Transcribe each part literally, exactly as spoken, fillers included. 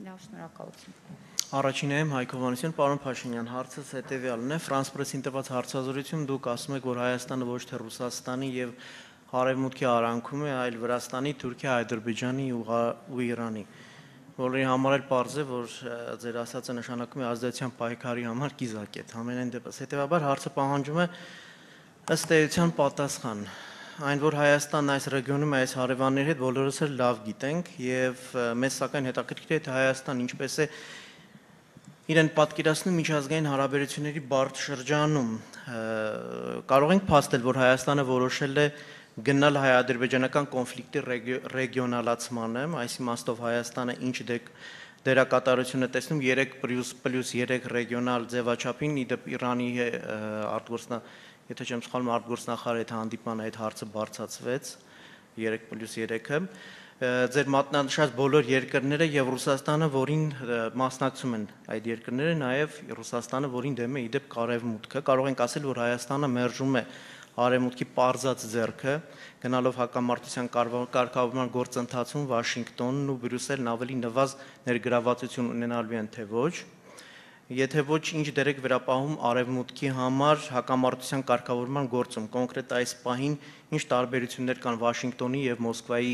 Լավ, շնորհակալություն։ Առաջինայում Հայկ Հովհաննիսյան, պարոն Փաշինյան, հարցս հետևյալն է, France Press-ին տված հարցազրույցում դուք ասում եք, որ Հայաստանը ոչ թե Ռուսաստանի եւ Արևմուտքի արանքում է, այլ Վրաստանի, Թուրքիա, Ադրբեջանի ու Իրանի, որի համար էլ պարզ է, որ ձեր ասածը նշանակում է ազդեցության պայքարի համար կիզակետ։ Համենայն դեպս, հետեւաբար հարցը պահանջում է ըստ էության պատասխան։ Այն, որ Հայաստանն այս ռեգիոնում այս հարևանների հետ բոլորս էլ լավ գիտենք եւ մեզ սակայն հետաքրքիր է թե Հայաստան ինչպես է իրեն պատկերացնում միջազգային հարաբերությունների բարդ շրջանում։ Կարող ենք փաստել, որ Հայաստանը որոշել է գնալ հայ-ադրբեջանական կոնֆլիկտի ռեգիոնալացմանը, այս իմաստով Հայաստանը ինչ դերակատարություն է տեսնում երեք պլյուս երեք ռեգիոնալ ձևաչափին, իդեպ Իրանի արտգործնա Եթե չեմ սխալվում, արտգործնախարարի հետ հանդիպման այդ հարցը բարձրացվեց երեք պլյուս երեքը, ձեր մատնանշած բոլոր երկրները եւ Ռուսաստանը, որին մասնակցում են այդ երկրները, նաեւ Ռուսաստանը, որին դեմ է իդեպ Արևմուտքը, կարող ենք ասել, որ Հայաստանը մերժում է Արևմուտքի պարզած ձեռքը, գնալով հակամարտության կարգավորման գործընթացում Վաշինգտոնն ու Բրյուսելն ավելի նվազ ներգրավվածություն ունենալու են, թե ոչ։ Եթե ոչ, ինչ դեր եք վերապահում Արևմուտքի համար հակամարտության կարգավորման գործում, կոնկրետ այս պահին ինչ տարբերություններ կան Վաշինգտոնի եւ Մոսկվայի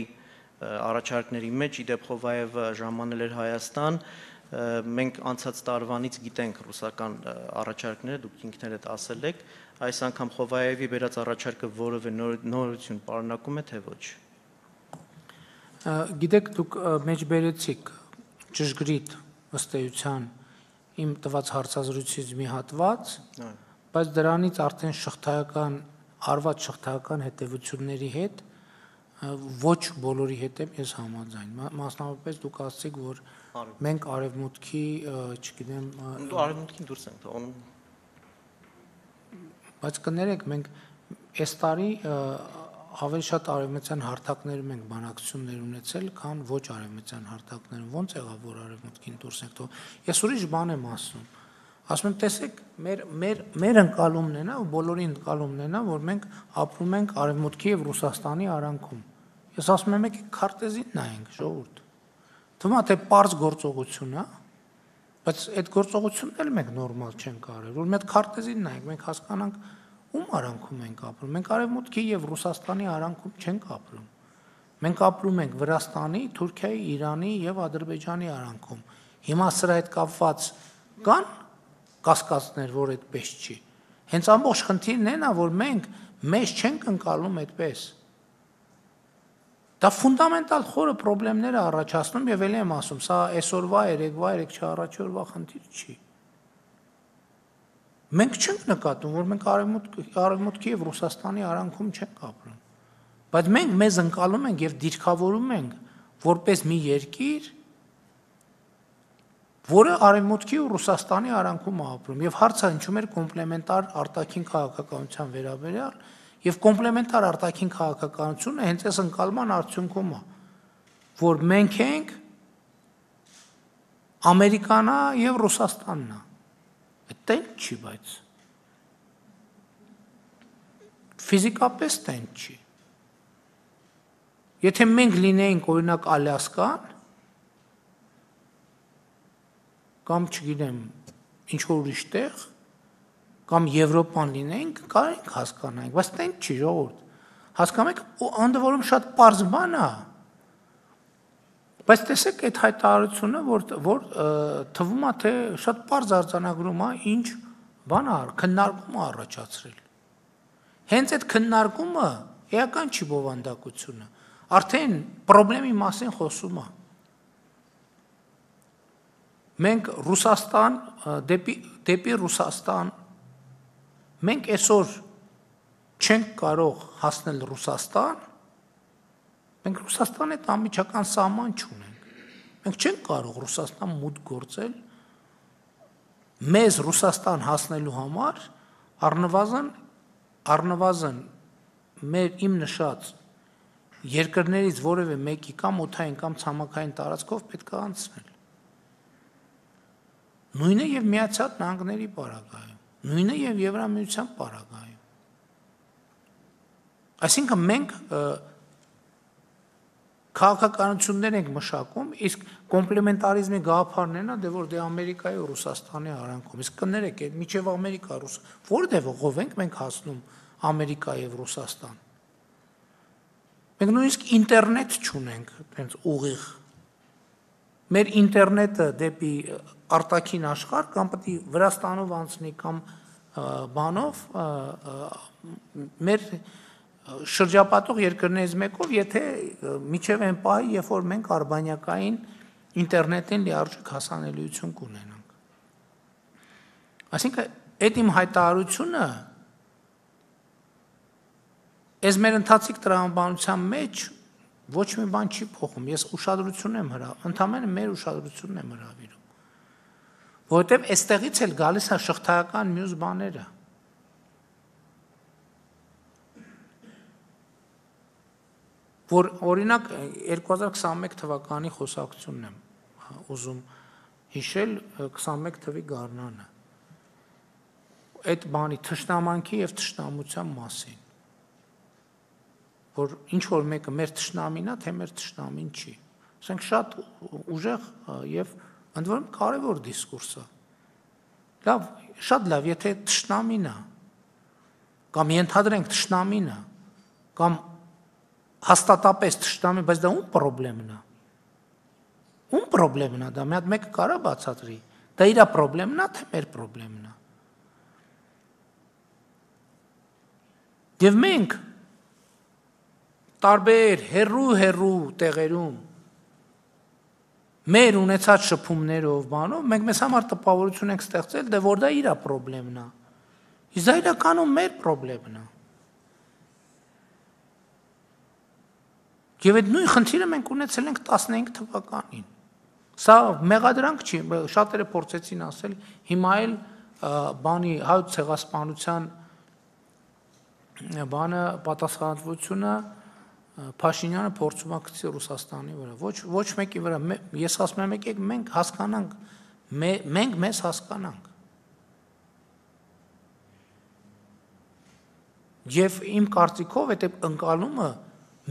առաջարկների մեջ, իդեպ Խովայևը ժամանել էր Հայաստան, մենք անցած տարվանից գիտենք ռուսական առաջարկները, դուք ինքներդ ասել եք, այս անգամ Խովայևի բերած առաջարկը որևէ նորություն պարունակում է, թե ոչ։ Գիտեք, դուք մեջբերեցիք ճշգրիտ ըստ էության իմ տված հարցազրույցից մի հատված, բայց դրանից արդեն շղթայական, արված շղթայական հետևությունների հետ ոչ բոլորի հետ եմ ես համաձայն։ Մասնավորապես դուք ասացիք, որ մենք Արևմուտքի, չգիտեմ, դու Արևմուտքին դուրս ենք թողնում։ Բայց կներեք, մենք այս տարի ավելի շատ արևմտյան հարթակներում ենք բանակցություններ ունեցել, քան ոչ արևմտյան հարթակներում։ Ոնց եղավ, որ Արևմուտքին դուրս եք թողնում։ Ես ուրիշ բան եմ ասում։ Ասում եմ, տեսեք, մեր մեր մեր ընկալումն է նա, ու բոլորի ընկալումն է նա, որ մենք ապրում ենք Արևմուտքի եւ Ռուսաստանի արանքում։ Ես ասում եմ, եկեք քարտեզին նայենք, ժողովուրդ։ Թվում է թե պարզ գործողություն է, բայց այդ գործողությունն էլ մենք նորմալ չենք արել, որ մենք քարտեզին նայենք, մենք հասկանանք ում արանքում ենք ապրում։ Մենք Արևմուտքի եւ Ռուսաստանի արանքում չենք ապրում։ Մենք ապրում ենք Վրաստանի, Թուրքիայի, Իրանի եւ Ադրբեջանի արանքում։ Հիմա սրա հետ կապված կան կասկածներ, որ այդպես չի։ Հենց ամբողջ խնդիրն է նա, որ մենք մեզ չենք ընկալում այդպես։ Դա ֆունդամենտալ խորը խնդիրներ է առաջացնում եւ ելի եմ ասում, սա այսօրվա, երեկվա, երեք չառաջորդվա խնդիր չի։ Մենք չենք նկատում, որ մենք Արևմուտքի եւ Ռուսաստանի արանքում չենք ապրում, բայց մենք մեզ ընկալում ենք եւ դիրքավորում ենք որպես մի երկիր, որը Արևմուտքի ու Ռուսաստանի արանքում է ապրում եւ հարցը հնչում էր կոմպլեմենտար արտաքին քաղաքականության վերաբերյալ եւ կոմպլեմենտար արտաքին քաղաքականությունը հենց այս ընկալման արդյունքում է, որ մենք ենք Ամերիկանա եւ Ռուսաստանն է։ Տենց չի, բայց ֆիզիկապես տենց չի։ Եթե մենք լինեինք օրինակ Ալյասկան կամ չգիտեմ ինչ որ ուրիշ տեղ կամ Եվրոպան լինեինք, կարող ենք հասկանանք, բայց տենց չի, ժողովուրդ։ Հասկանում եք, ընդ որում շատ պարզ բան է։ Բայց տեսեք այդ հայտարարությունը, որ որ թվում է թե շատ պարզ արձանագրում է, ինչ բան է, քննարկում է առաջացրել։ Հենց այդ քննարկումը էական չի բովանդակությունը, արդեն խնդրի մասին խոսում է։ Մենք Ռուսաստան դեպի դեպի Ռուսաստան մենք այսօր չենք կարող հասնել Ռուսաստան, մենք Ռուսաստանի հետ անմիջական սահման չունենք։ Մենք չենք կարող Ռուսաստան մուտք գործել մեզ Ռուսաստան հասնելու համար առնվազն առնվազն մեր իմ նշած երկրներից որևէ մեկի կամ օդային կամ ցամաքային տարածքով պետք է անցնել։ Նույնը եւ Միացյալ Նահանգների պարագայում, նույնը եւ Եվրամիության պարագայում։ Այսինքն մենք քաղաքականություններ ենք մշակում, իսկ կոմպլեմենտարիզմի գաղափարն են, դե որ դե Ամերիկայի ու Ռուսաստանի արանքում, իսկ կներեք, այդ միջև Ամերիկա, Ռուս, որտեղ ողով ենք մենք հասնում Ամերիկա եւ Ռուսաստան։ Մենք նույնիսկ ինտերնետ չունենք, այնց ուղիղ։ Մեր ինտերնետը դեպի արտաքին աշխարհ կամ պետք է Վրաստանով անցնի կամ բանով մեր շրջապատող երկրներից մեկով, եթե միջև այն պահի, երբ որ մենք արբանյակային ինտերնետին լիարժեք հասանելիություն կունենանք։ Այսինքն, այդ իմ հայտարարությունը այս մեր ընթացիկ տրամաբանության մեջ ոչ մի բան չի փոխում, ես ուշադրություն եմ հրավիրում, ընդհանրապես մեր ուշադրությունն եմ հրավիրում, որովհետև այստեղից էլ գալիս է շղթայական մյուս բաները։ Որ օրինակ երկու հազար քսանմեկ թվականի խոսակցությունն եմ ուզում հիշել քսանմեկ թվականի գարնանը։ Այդ բանի թշնամանքի եւ թշնամության մասին։ Որ ինչ որ մեկը մեր թշնամին է, թե մեր թշնամին չի։ Ասենք շատ ուժեղ եւ ընդ որում կարեւոր դիսկուրս է։ Լավ, շատ լավ, եթե թշնամին է կամ ենթադրենք թշնամին է կամ հաստատապես թշնամի, բայց դա ում խնդիրն է։ Ում խնդիրն է դա, մի հատ մեկը կարա բացատրի։ Դա իր խնդիրն է, թե մեր խնդիրն է։ Եվ մենք տարբեր հերու-հերու տեղերում մեր ունեցած շփումներով բանով մենք մեզ համար տպավորություն ենք ստեղծել, դե որ դա իր խնդիրն է։ Իսկ դա իրականում մեր խնդիրն է։ Եվ այդ նույն խնդիրը մենք ունեցել ենք տասնհինգ թվականին։ Սա մեղադրանք չի, շատերը փորձեցին ասել, հիմա էլ բանի հայոց ցեղասպանության բանը պատասխանատվությունը Փաշինյանը փորձում է գցի Ռուսաստանի վրա։ Ոչ ոչ մեկի վրա, ես ասում եմ եկեք մենք հասկանանք, մենք մեզ հասկանանք։ Եվ իմ կարծիքով այդ ընկալումը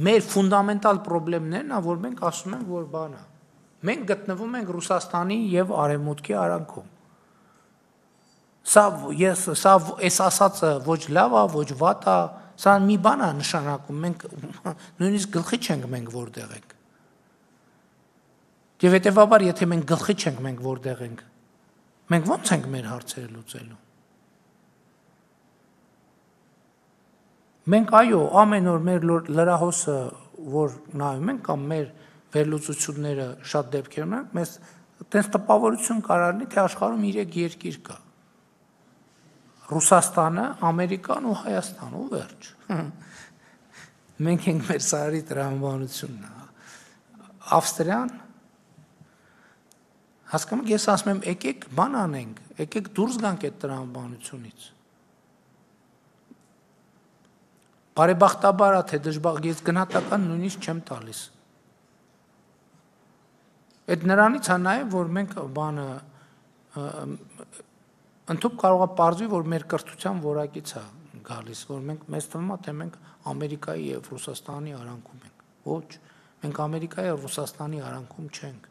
մեր ֆունդամենտալ խնդիրներն է, որ մենք ասում ենք, որ բան է։ Մենք գտնվում ենք Ռուսաստանի եւ Արևմուտքի արանքում։ Սա ես սա այս ասածը ոչ լավ է, ոչ վատ է, սա մի բան է նշանակում, մենք նույնիսկ գլխի չենք մենք որտեղ ենք։ Եվ հետեւաբար, եթե մենք գլխի չենք մենք որտեղ ենք, մենք ո՞նց ենք մեր հարցերը լուծելու։ Մենք այո, ամեն օր մեր լրահոսը, որ նայում ենք կամ մեր վերլուծությունները շատ դեպքերում են, մեզ տես տպավորություն կարարնի, թե աշխարհում երեք երկիր կա։ Ռուսաստանը, Ամերիկան ու Հայաստան ու վերջ։ Մենք ենք մեր սարի տրամաբանությունն։ Ավստրիան հասկանում ես ասում եմ եկեք բան անենք, եկեք դուրս գանք այդ տրամաբանությունից։ Բարեբախտաբար թե դժբախտ ես գնահատական նույնիսկ չեմ տալիս։ Այդ նրանից է նաև որ մենք բանը ընդհանուր կարող է պարզվի, որ մեր կրթության որակից է գալիս, որ մենք մեզ թվում է, թե մենք Ամերիկայի եւ Ռուսաստանի արանքում ենք։ Ոչ, մենք Ամերիկայի եւ Ռուսաստանի արանքում չենք։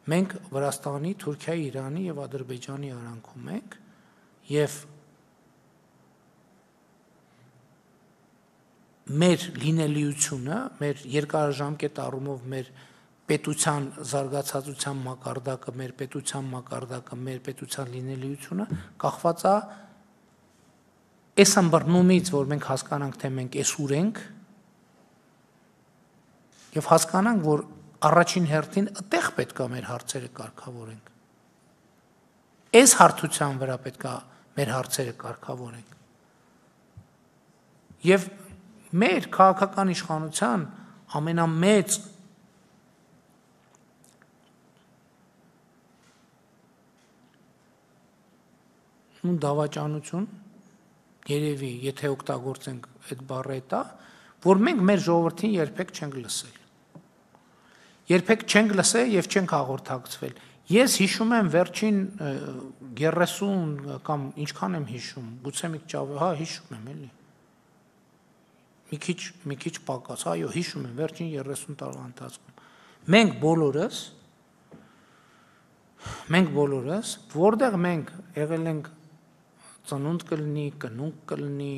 Մենք Վրաստանի, Թուրքիայի, Իրանի եւ Ադրբեջանի արանքում ենք եւ մեր լինելիությունը, մեր երկարաժամկետ առումով մեր պետության զարգացածության մակարդակը, մեր պետության մակարդակը, մեր պետության լինելիությունը կախված է այս ըմբռնումից, որ մենք հասկանանք, թե մենք էսուր ենք եւ հասկանանք, որ առաջին հերթին այդտեղ պետք է մեր հարցերը կարգավորենք։ Այս հարթության վրա պետք է մեր հարցերը կարգավորենք։ Եվ մեր քաղաքական իշխանության ամենամեծ ու դավաճանություն երևի, եթե օգտագործենք այդ բառը դա, որ մենք մեր ժողովրդին երբեք չենք լսել։ Երբեք չենք լսել եւ չենք հաղորդակցվել։ Ես հիշում եմ վերջին երեսուն կամ ինչքան եմ հիշում, գուցե մի քիչ, հա, հիշում եմ էլի։ մի քիչ մի քիչ պակաս, այո, հիշում եմ վերջին երեսուն տարվա ընթացքում։ Մենք բոլորս մենք բոլորս, որտեղ մենք եղել ենք ծնունդ կլինի, կնունկ կլինի,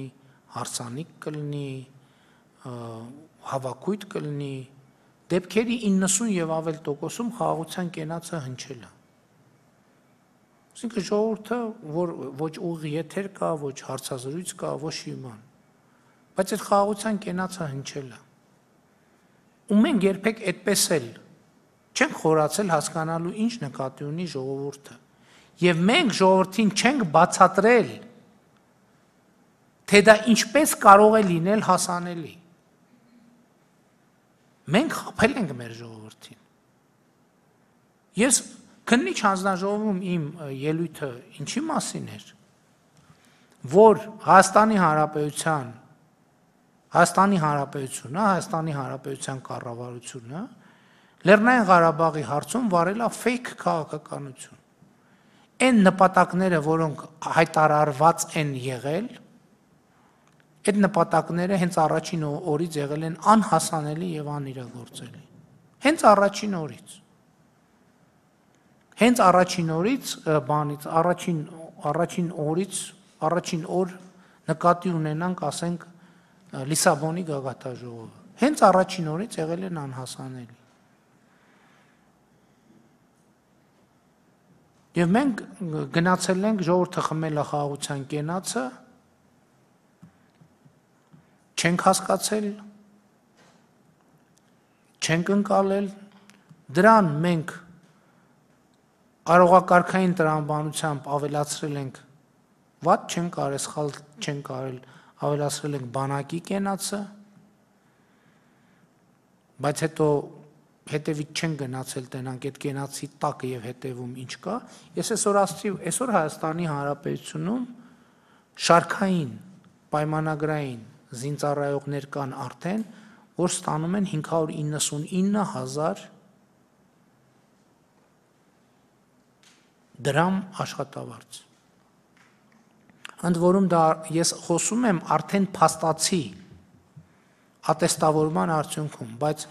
հարսանիք կլինի, հավաքույթ կլինի, դեպքերի իննսուն եւ ավել տոկոսում խաղաղության կենացը հնչել է։ Այսինքն ժողովուրդը, որ ոչ ուղիղ եթեր կա, ոչ հարցազրույց կա, ոչ իման։ Բայց այդ խաղաղության կենացը հնչել է։ Ու մենք երբեք այդպես էլ չենք խորացել հասկանալու ինչ նկատի ունի ժողովուրդը։ Եվ մենք ժողովրդին չենք բացատրել, թե դա ինչպես կարող է լինել հասանելի։ Մենք խաբել ենք մեր ժողովրդին։ Ես քննիչ հանձնաժողովում իմ ելույթը ինչի մասին էր, որ Հայաստանի Հանրապետության Հայաստանի Հանրապետությունը, Հայաստանի Հանրապետության կառավարությունը Լեռնային Ղարաբաղի հարցում վարել է ֆեյք քաղաքականություն։ Այն նպատակները, որոնք հայտարարված են եղել, այդ նպատակները հենց առաջին օրից եղել են անհասանելի եւ անիրագործելի։ Հենց առաջին օրից։ Հենց առաջին օրից բանից, առաջին առաջին օրից, առաջին օր նկատի ունենանք, ասենք, Լիսաբոնի գագաթաժողովը։ Հենց առաջին օրից եղել են անհասանելի։ Եվ մենք գնացել ենք ժողովուրդը խմել է խաղաղության կենացը, չենք հասկացել, չենք ընկալել, դրան մենք արողակարգային տրամաբանությամբ ավելացրել ենք, վատ չենք կարել, սխալ չենք կարել, ավելացրել ենք բանակի կենացը, բայց հետո հետևից չեն գնացել տենանք այդ կենացի տակը եւ հետևում ինչ կա, ես այսօր ասացի, այսօր Հայաստանի Հանրապետությունում շարքային, պայմանագրային զինծառայողներ կան արդեն, որ ստանում են հինգ հարյուր իննսունինը հազար դրամ աշխատավարձ։ Ընդ որում դա ես խոսում եմ արդեն փաստացի ատեստավորման արդյունքում, բայց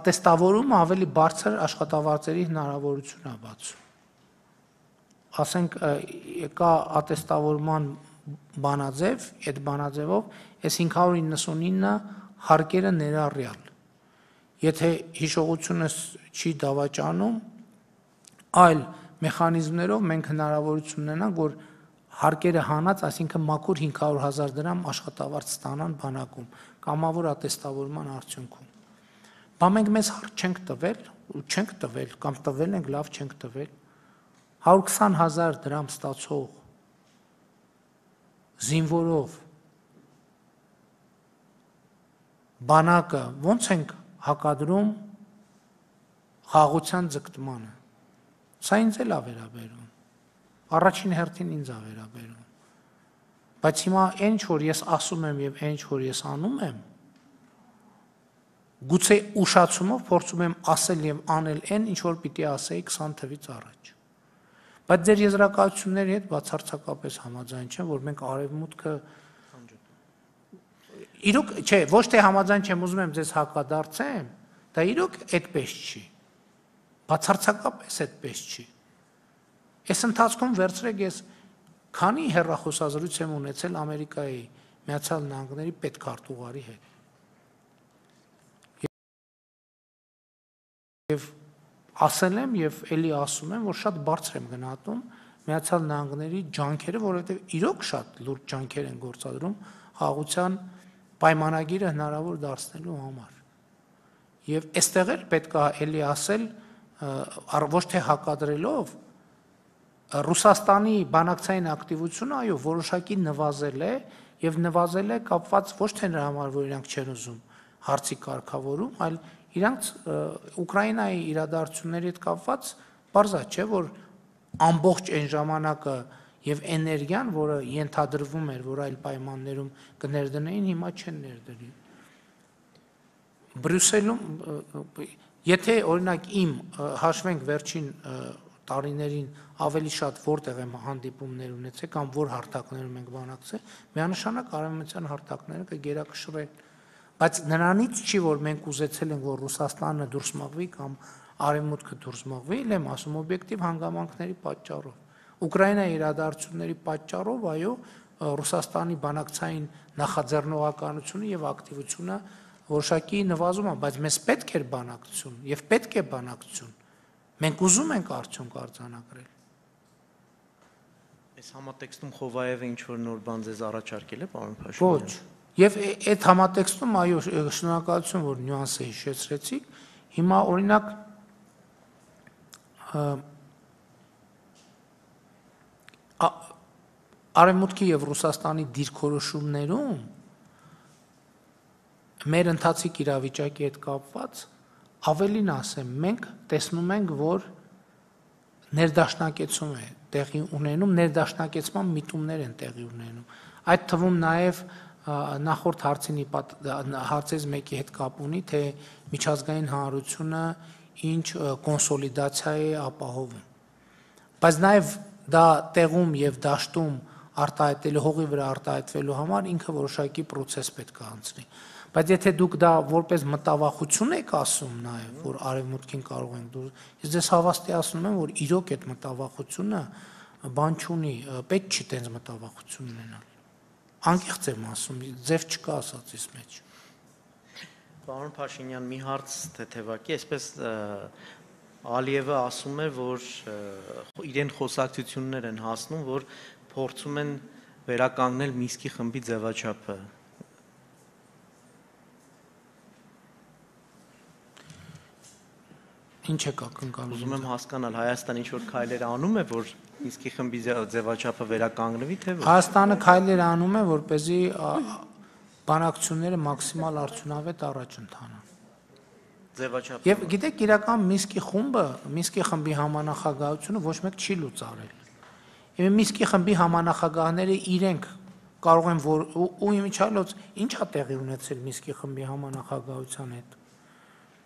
ատեստավորումը ավելի բարձր աշխատավարձերի հնարավորություն է բացում։ Ասենք կա ատեստավորման բանաձև, այդ բանաձևով այս հինգ հարյուր իննսունինը հարկերը ներառյալ։ Եթե հիշողությունս չի դավաճանում, այլ մեխանիզմներով մենք հնարավորություն ունենանք, որ հարկերը հանած, այսինքն մաքուր հինգ հարյուր հազար դրամ աշխատավարձ ստանան բանակում, կամավոր ատեստավորման արդյունքում։ Բա մենք մեզ հարկ չենք տվել, ու չենք տվել, կամ տվել ենք, լավ չենք տվել, հարյուր քսան հազար դրամ ստացող զինվորով բանակը ոնց ենք հակադրում խաղաղության ձգտմանը։ Սա ինձ էլ է վերաբերում, առաջին հերթին ինձ է վերաբերում, բայց հիմա այն ինչ որ ես ասում եմ եւ այն ինչ որ ես անում եմ, գուցե ուշացումով փորձում եմ ասել եւ անել այն, ինչ որ պիտի ասեի քսան թվից առաջ։ Բայց ձեր եզրակացությունների հետ բացարձակապես համաձայն չեմ, որ մենք արևմուտքը իրոք, չէ, ոչ թե համաձայն չեմ, ուզում եմ ձեզ հակադարձեմ, դա իրոք այդպես չի։ Բացարձակապես այդպես չի։ Այս ընթացքում վերցրեք ես քանի հեռախոսազրույց եմ ունեցել Ամերիկայի Միացյալ Նահանգների պետքարտուղարի հետ։ Եվ ասել եմ եւ ելի ասում եմ, որ շատ բարձր եմ գնահատում Միացյալ Նահանգների ջանքերը, որովհետեւ իրոք շատ լուրջ ջանքեր են գործադրում խաղաղության պայմանագիրը հնարավոր դարձնելու համար։ Եվ այստեղ էլ պետք է ելի ասել, ոչ թե հակադրելով, Ռուսաստանի բանակցային ակտիվությունը, այո, որոշակի նվազել է եւ նվազել է կապված ոչ թե նրա համար, որ իրանք չեն ուզում հարցի կարգավորում, այլ իրանք Ուկրաինայի իրադարձությունների հետ կապված բարձր չէ, որ ամբողջ այն ժամանակը եւ էներգիան, որը ենթադրվում էր, որ այլ պայմաններում կներդնեին, հիմա չեն ներդրի։ Բրյուսելում, եթե օրինակ իմ հաշվենք վերջին տարիներին ավելի շատ որտեղ եմ հանդիպումներ ունեցել կամ որ հարթակներում ենք բանակցել, միանշանակ արևմտյան հարթակները կգերակշռեն բայց նրանից չի, որ մենք ուզեցել ենք, որ Ռուսաստանը դուրս մղվի կամ Արևմուտքը դուրս մղվի, էլ եմ ասում օբյեկտիվ հանգամանքների պատճառով։ Ուկրաինայի իրադարձությունների պատճառով, այո, Ռուսաստանի բանակցային նախաձեռնողականությունը եւ ակտիվությունը որոշակի նվազում է, բայց մեզ պետք էր բանակցություն եւ պետք է բանակցություն։ Մենք ուզում ենք արդյունք արձանագրել։ Այս համատեքստում Խովայևը ինչ որ նոր բան ձեզ առաջարկել է, պարոն Փաշինյան։ Ոչ։ Եվ այդ համատեքստում, այո, շնորհակալություն, որ նյուանսը հիշեցրեցիք։ Հիմա օրինակ Արևմուտքի եւ Ռուսաստանի դիրքորոշումներում մեր ընթացիկ իրավիճակի հետ կապված ավելին ասեմ, մենք տեսնում ենք, որ ներդաշնակեցում է տեղի ունենում, ներդաշնակեցման միտումներ են տեղի ունենում։ Այդ թվում նաեւ նախորդ հարցինի հարցից մեկի հետ կապ ունի, թե միջազգային հանրությունը ինչ կոնսոլիդացիա է ապահովում։ Բայց նաեւ դա տեղում եւ դաշտում արտահայտելու հողի վրա արտահայտվելու համար ինքը որոշակի process պետք է անցնի։ Բայց եթե դուք դա որպես մտավախություն եք ասում նաեւ, որ արևմուտքին կարող ենք դուր, ես ձեզ հավաստիացնում եմ, որ իրոք այդ մտավախությունը բան չունի, պետք չի տենց մտավախություն ունենալ։ Անկեղծ եմ ասում, ձև չկա ասածից մեջ։ Պարոն Փաշինյան, մի հարց թեթևակի, այսպես Ալիևը ասում է, որ իրեն խոսակցություններ են հասնում, որ փորձում են վերականգնել Մինսկի խմբի ձևաչափը։ Ինչ եք ակնկալում։ Ուզում եմ հասկանալ, Հայաստանը ինչ որ քայլեր անում է, որ Մինսկի խմբի ձևաչափը վերականգնվի, թե ոչ։ Հայաստանը քայլեր անում է, որպեսզի բանակցությունները մաքսիմալ արդյունավետ առաջ ընթանան։ Ձևաչափը։ Եվ գիտեք, իրական Մինսկի խումբը, Մինսկի խմբի համանախագահությունը ոչ մեկ չի լուծարել։ Եվ Մինսկի խմբի համանախագահները իրենք կարող են որ ու իմիջիալոց ինչ է տեղի ունեցել Մինսկի խմբի համանախագահության հետ։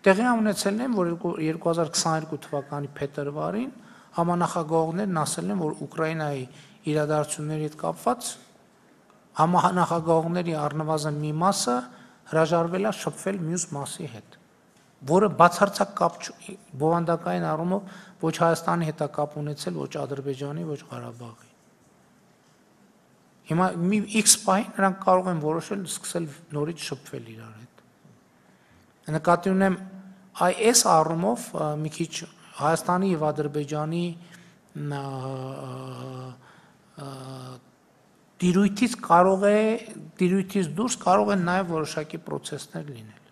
Տեղի ունեցել են, որ երկու հազար քսաներկու թվականի փետրվարին համանախագահողներն ասել են, որ Ուկրաինայի իրադարձությունների հետ կապված համանախագահողների առնվազն մի մասը հրաժարվել է շփվել մյուս մասի հետ, որը բացարձակ կապ բովանդակային առումով ոչ Հայաստանի հետ է կապ ունեցել, ոչ Ադրբեջանի, ոչ Ղարաբաղի։ Հիմա մի X պահին նրանք կարող են որոշել սկսել նորից շփվել իրար հետ։ Նկատի ունեմ այս առումով մի քիչ Հայաստանի եւ Ադրբեջանի դիրույթից կարող է դիրույթից դուրս կարող են նաեւ որոշակի process-ներ լինել։